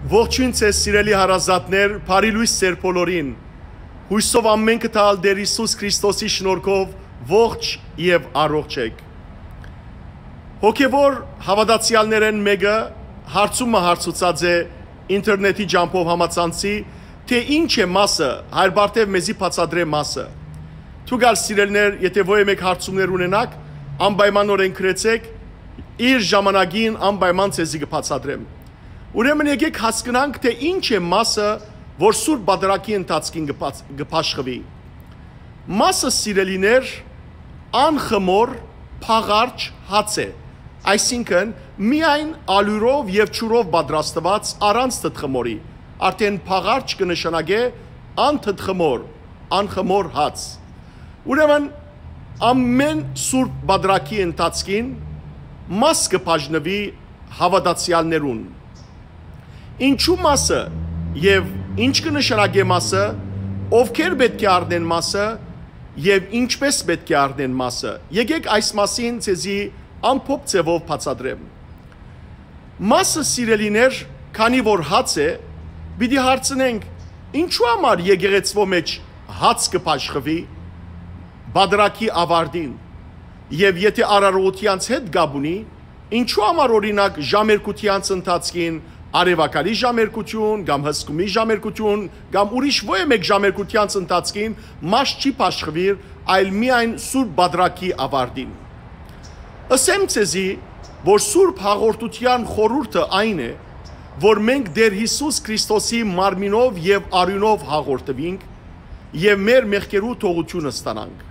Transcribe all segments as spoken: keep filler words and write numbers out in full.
Ողջոյն ձեզ, սիրելի հարազատներ, բարի լոյս ձեր բոլորին։ Յուսով ամէնքը տալ Տեր Յիսուս Քրիստոսի շնորհքով ողջ եւ առողջ էք։ Հոգեվոր հաւատացեալներէն մէկը հարցումը հարցուցած է ինտերնետի ճամբով համացանցի, թէ ինչ է մասը, Հայր Բարթեւ մեզի բացատրէ մասը։ Դուք ալ, սիրելիներ, եթէ ոյ մէկ հարցումներ ունենաք, անպայմանօրէն գրեցէք, իր ժամանակին անպայման ձեզի կը բացատրեմ։ Ուրեմն եկեք հասկնանք, թէ ինչ է մասը, որ Սուրբ Պատրակի ընթացքին կը բաց-, կը բաշխուի։ Մասը, սիրելիներ, անխմոր, փաղարջ հաց է, այսինքն միայն ալիւրով եւ ջուրով պատրաստուած, առանց թթխմորի, արդէն փաղարջ կը նշանակէ անթթխմոր, անխմոր հաց։ Ուրեմն ամէն Սուրբ Պատրակի ընթացքին մաս կը բաժնուի հաւատացեալներուն։ Ինչու մասը եւ ինչ կը նշանակէ մասը, ովքեր պէտք է առնեն մասը եւ ինչպէս պէտք է առնեն մասը։ Եկեք այս մասին ձեզի ամփոփ ձեւով բացատրեմ։ Մասը, սիրելիներ, քանի որ հաց է, պիտի հարցնենք, ինչու համար եկեղեցւոյ մէջ հաց կը բաշխուի Պատրակի աւարտին, եւ եթէ արարողութեանց հետ կապ ունի, ինչու համար, օրինակ, ժամերգութեանց ընթացքին, արեւակալի ժամերգութիւն կամ հսկումի ժամերգութիւն կամ ուրիշ ոյ մէկ ժամերգութեանց ընթացքին մաս չի բաշխուիր, այլ միայն Սուրբ Պատրակի աւարտին։ Ըսեմ ձեզի, որ Սուրբ Հաղորդութեան խորհուրդը այն է, որ մենք Տեր Յիսուս Քրիստոսի մարմինով եւ արիւնով հաղորդուինք եւ մեր մեղքերու թողութիւնը ստանանք։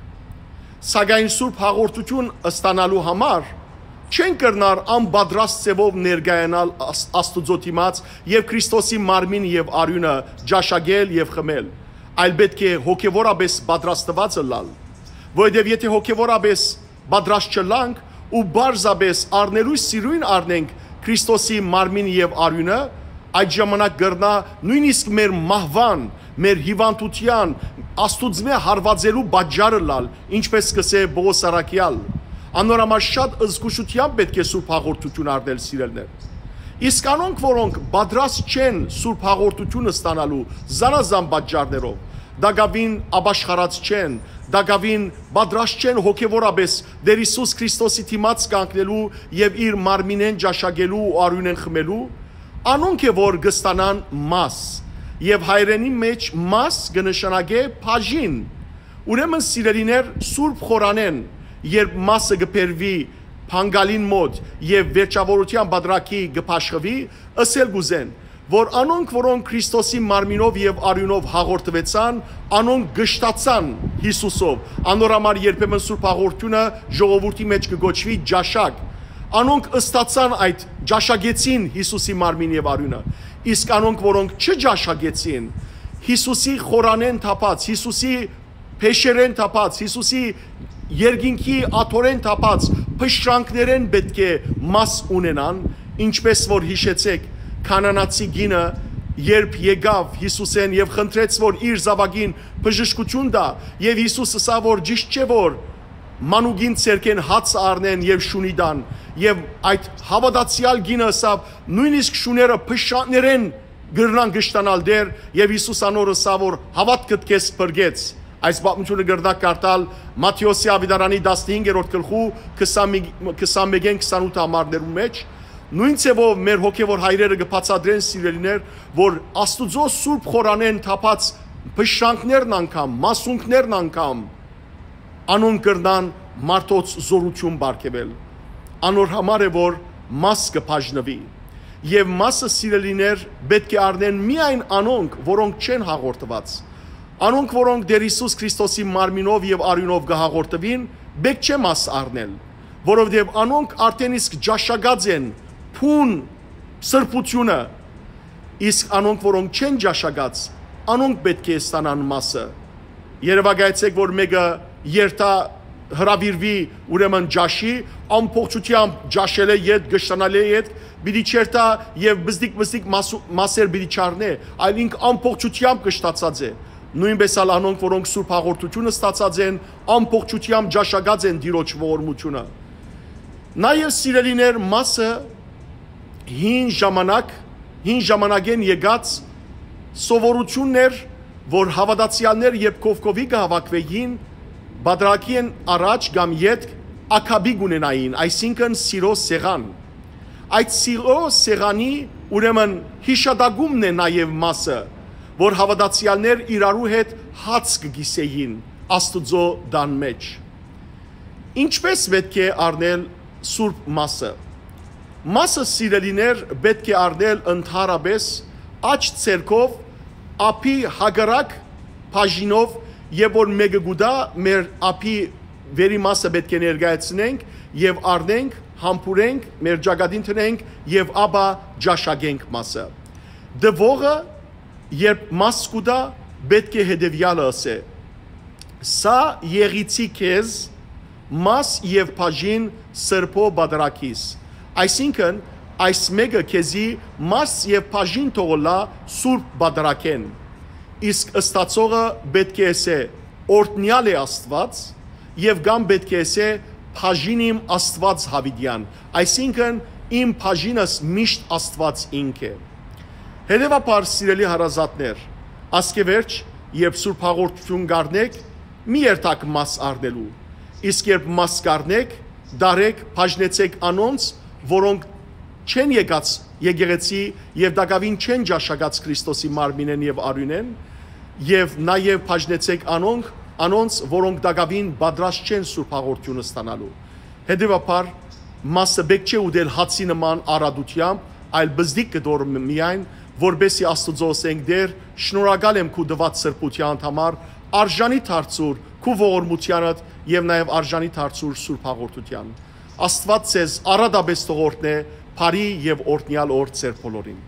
Սակայն Սուրբ Հաղորդութիւն ստանալու համար չեն կրնար անպատրաստ ձևով ներկայանալ Աս-, Աստուծոյ դիմաց եւ Քրիստոսի մարմին եւ արիւնը ճաշակել եւ խմել, այլ պէտք է հոգեվորապէս պատրաստուած ըլլալ, որովհետեւ եթէ հոգեվորապէս պատրաստ չըլլանք ու պարզապէս առնելու սիրոյն առնենք Քրիստոսի մարմին եւ արիւնը, այդ ժամանակ կրնայ նոյնիսկ մեր մահուան, մեր հիւանդութեան, Աստուծմէ հարուածելու պատճառ ըլլալ, ինչպէս կ'ըսէ Պողոս առաքեալ։ Անոր համար շատ զգուշութեամբ պէտք է Սուրբ Հաղորդութիւն առնել, սիրելիներ։ Իսկ անոնք, որոնք պատրաստ չեն Սուրբ Հաղորդութիւնը ստանալու զանազան պատճառներով, տակաւին ապաշխարած չեն, տակաւին պատրաստ չեն հոգեվորապէս Տեր Յիսուս Քրիստոսի դիմաց կանգնելու եւ իր մարմինէն ճաշակելու ու արիւնէն խմելու, անոնք է որ կստանան մաս, եւ հայերէնի մէջ մաս կը նշանակէ բաժին։ Ուրեմն, սիրելիներ, Սուրբ Խորանէն երբ մասը կը բերուի Փանգալին մօտ եւ վերջաւորութեան Պատրակի կը բաշխուի, ըսել կ'ուզեն, որ անոնք, որոնք Քրիստոսի մարմինով եւ արիւնով հաղորդուեցան, անոնք կշտացան Յիսուսով։ Անոր համար երբեմն Սուրբ Հաղորդութիւնը ժողովուրդի մէջ կը կոչուի ճաշակ։ Անոնք ըստացան այդ, ճաշակեցին Յիսուսի մարմին եւ արիւնը։ Իսկ անոնք, որոնք չճաշակեցին, Յիսուսի խորանէն թափած, Յիսուսի փեշերէն թափած, Յիսուսի երկինքի աթոռէն թափած փշրանքներէն պէտք է մաս ունենան, ինչպէս որ, յիշեցէք, քանանացի կինը երբ եկաւ Յիսուսէն եւ խնդրեց, որ իր զաւակին բժշկութիւն տայ, եւ Յիսուս ըսաւ, որ ճիշդ չէ, որ մանուկին ձեռքէն հաց առնեն եւ շունի տան, եւ այդ հաւատացեալ կինը ըսաւ, նոյնիսկ շուները փշրանքներէն կրնան կշտանալ Տէր, եւ Յիսուս անոր ըսաւ, որ հաւատքդ քեզ փրկեց։ Այս պատմութիւնը կրնաք կարդալ Մատթէոսի աւետարանի տասնհինգերորդ գլխու քսանմեկ, քսանմէկէն քսանութ համարներուն մէջ։ Նոյն ձեւով մեր հոգեվոր հայրերը կը բացատրեն, սիրելիներ, որ Աստուծոյ Սուրբ Խորանէն թափած փշրանքներն անգամ, մասունքներն անգամ, անոնք կրնան մարդոց զօրութիւն պարգեւել։ Անոր համար է, որ մաս կը բաժնուի։ Եւ մասը, սիրելիներ, պէտք է առնեն միայն անոնք, որոնք չեն հաղորդուած։ Անոնք, որոնք Տեր Յիսուս Քրիստոսի մարմինով եւ արիւնով կը հաղորդուին, պէտք չէ մաս առնել, որովհետեւ անոնք արդէն իսկ ճաշակած են բուն սրբութիւնը, իսկ անոնք, որոնք չեն ճաշակած, անոնք պէտք է ստանան մասը։ Երեւակայեցէք, որ մէկը երթայ, հրաւիրուի, ուրեմն, ճաշի, ամբողջութեամբ ճաշելէ ետք, կշտանալէ ետք, պիտի չերթայ եւ բզդիկ-բզդիկ մասու-, մասեր պիտի չառնէ, այլ ինք ամբողջութեամբ կշտացած է։ Նոյնպէս ալ անոնք, որոնք Սուրբ Հաղորդութիւնը ստացած են, ամբողջութեամբ ճաշակած են Տիրոջ ողորմութիւնը։ Նաեւ, սիրելիներ, մասը հին ժամանակ Հին ժամանակէն եկած սովորութիւնն էր, որ հաւատացեալներ, երբ կովկովի կը հաւաքուէին, պատարագին առաջ կամ ետք ակապի կ'ունենային, այսինքն՝ սիրոյ սեղան։ Այդ սիրոյ սեղանի, ուրեմն, յիշատակումն է նաեւ մասը, որ հաւատացեալներ իրարու հետ հաց կը կիսէին Աստուծոյ տան մէջ։ Ինչպէ՞ս պէտք է առնել սուրբ մասը։ Մասը, սիրելիներ, պէտք է առնել ընդհանրապէս աջ ձեռքով, ափի հակառակ բաժինով, եւ որ մէկը կու տայ, մեր ափի վերի մասը պէտք է ներկայացնենք եւ առնենք, համբուրենք, մեր ճակատին դնենք եւ ապա ճաշակենք մասը։ Տուողը, երբ մաս կու տայ, պէտք է հետեւեալը ըսէ. «Սա եղիցի քեզ, մաս եւ բաժին սրբոյ պատարագիս»։ Այսինքն՝ այս մէկը քեզի մաս եւ բաժին թող ըլլայ սուրբ պատարագէն, իսկ ստացողը պէտք է ըսէ. «Օրհնեալ է Աստուած», եւ կամ պէտք է ըսէ. «Բաժին իմ Աստուած յաւիտեան», այսինքն՝ իմ բաժինս միշտ Աստուած ինք է։ Հետեւաբար, սիրելի հարազատներ, ասկեվերջ, երբ սուրբ հաղորդութիւն կ'առնէք, մի երթաք մաս առնելու, իսկ երբ մաս կ'առնէք, տարէք, բաժնեցէք անոնց, որոնք չեն եկած եկեղեցի եւ տակաւին չեն ճաշակած Քրիստոսի մարմինէն եւ արիւնէն, եւ նաեւ բաժնեցէք անոնք, անոնց, որոնք տակաւին պատրաստ չեն սուրբ հաղորդութիւնը ստանալու։ Հետեւաբար, մասը պէտք չէ ուտել հացի նման առատութեամբ, այլ պզտիկ կտոր մը-, միայն, որպէսզի Աստուծոյ ըսենք. «Տէր, շնորհակալ եմ քու տուած սրբութեանդ համար, արժանի դարձուր քու ողորմութեանդ եւ նաեւ արժանի դարձուր սուրբ հաղորդութեան»։ Աստուած ձեզ առատապէս թող օրհնէ, բարի եւ օրհնեալ օր ձեր բոլորին։